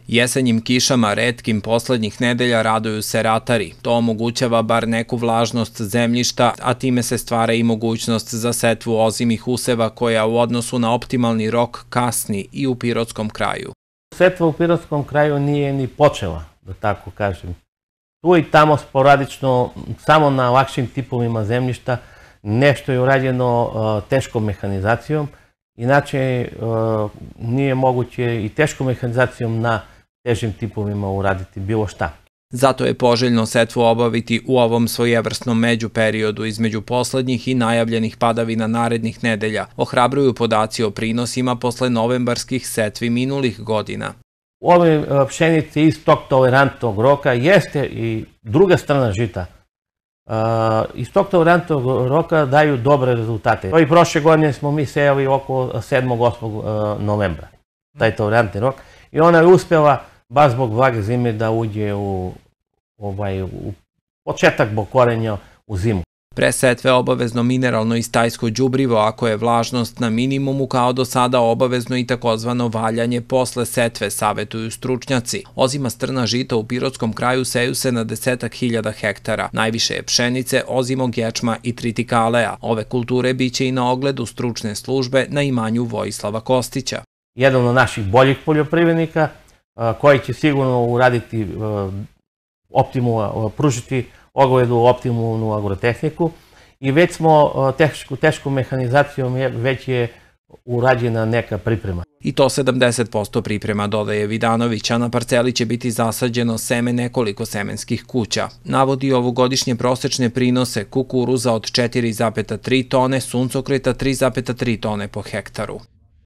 Jesenjim kišama retkim poslednjih nedelja raduju se ratari. To omogućava bar neku vlažnost zemljišta, a time se stvara i mogućnost za setvu ozimih useva koja u odnosu na optimalni rok kasni i u Pirotskom kraju. Setva u Pirotskom kraju nije ni počela, da tako kažem. Tu i tamo sporadično, samo na lakšim tipovima zemljišta, nešto je urađeno teškom mehanizacijom, inače nije moguće i teškom mehanizacijom na težim tipovima uraditi bilo šta. Zato je poželjno setvu obaviti u ovom svojevrsnom međuperiodu između poslednjih i najavljenih padavina narednih nedelja, ohrabruju podaci o prinosima posle novembarskih setvi minulih godina. Ove pšenice iz tog tolerantnog roka jeste i druga strana žita. Iz tog tolerantnog roka daju dobre rezultate. I prošle godine smo mi sejali oko 7-8 novembra, taj tolerantni rok, i ona je uspjela, baš zbog vlage zime, da uđe u početak bokorenja u zimu. Pre setve obavezno mineralno i stajsko đubrivo, ako je vlažnost na minimumu, kao do sada obavezno i takozvano valjanje posle setve, savetuju stručnjaci. Ozima strna žita u Pirotskom kraju seju se na 10.000 hektara. Najviše je pšenice, ozimog ječma i tritikaleja. Ove kulture biće i na ogledu stručne službe na imanju Vojislava Kostića. Jedan od naših boljih poljoprivrednika koji će sigurno uraditi pružiti ogledu optimalnu agrotehniku, i već smo teškom mehanizacijom već je urađena neka priprema. I to 70% priprema, dodaje Vidanović, a na parceli će biti zasađeno seme nekoliko semenskih kuća. Navodi ovogodišnje prosečne prinose kukuruza od 4,3 tone, suncokreta 3,3 tone po hektaru.